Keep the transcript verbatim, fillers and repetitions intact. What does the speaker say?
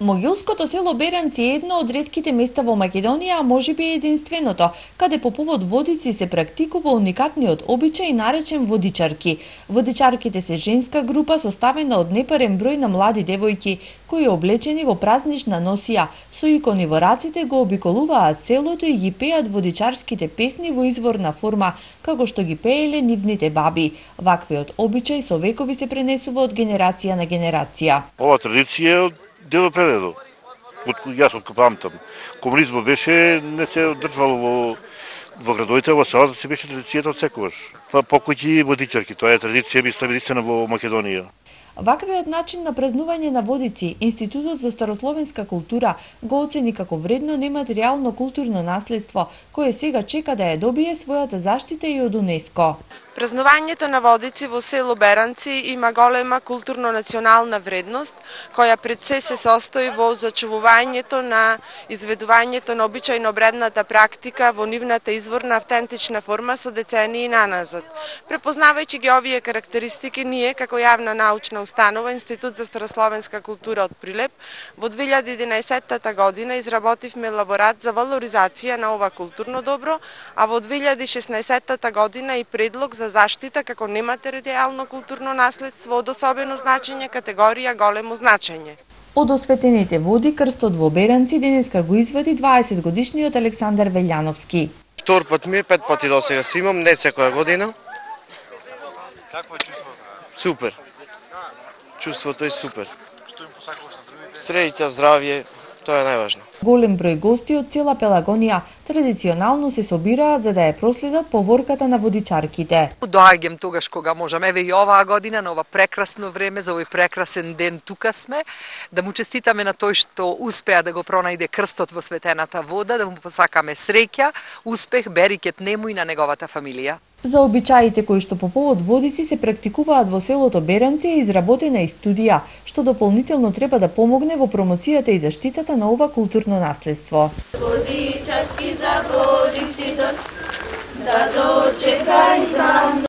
Могилското село Беранци е едно од ретките места во Македонија, а можеби единственото, каде по повод водици се практикува уникатниот обичај наречен водичарки. Водичарките се женска група составена од непарен број на млади девојки, кои облечени во празнична носија, со икони во раците го обиколуваат селото и ги пеат водичарските песни во изворна форма, како што ги пееле нивните баби. Ваквиот обичај со векови се пренесува од генерација на генерација. Ова традиција дело преледо. Од јас од памтам. Комунизмот беше не се одржувало во во градовите, во селата се беше традицијата од секогаш. Па покојки водичарки, тоа е традиција единствена во Македонија. Ваквиот начин на празнување на водици, Институтот за старословенска култура го оцени како вредно нематеријално културно наследство, кое сега чека да ја добие својата заштита и од УНЕСКО. Празнувањето на водици во село Беранци има голема културно-национална вредност, која пред се се состои во зачувувањето на изведувањето на обичајно бредната практика во нивната изворна автентична форма со децении наназад. Препознавајќи ги овие карактеристики, ние како јавна научна установа Институт за старословенска култура од Прилеп во две илјади и единаесетта година изработивме лаборат за валоризација на ова културно добро, а во две илјади и шеснаесетта година и предлог за заштита како нематеријално културно наследство од особено значење категорија големо значење. Од осветените води крстот во Беранци денеска го извади дваесет годишниот Александар Велјановски. Втор пат ми е, пет пати до сега си имам, не секоја година. Какво е чувството? Супер. Чувството е супер. Што им посакуваш на другите? Среќа, здравје, тоа е најважно. Голем број гости од цела Пелагонија традиционално се собираат за да ја проследат поворката на водичарките. Доаѓам тогаш кога можам. Еве и оваа година на ова прекрасно време, за овој прекрасен ден тука сме, да му честитаме на тој што успеа да го пронајде крстот во светената вода, да му посакаме среќа, успех, берикет нему и на неговата фамилија. За обичаите кои што по повод водици се практикуваат во селото Беранци е изработена и студија, што дополнително треба да помогне во промоцијата и заштитата на ова културно наследство. Водичарски за водици да дочекај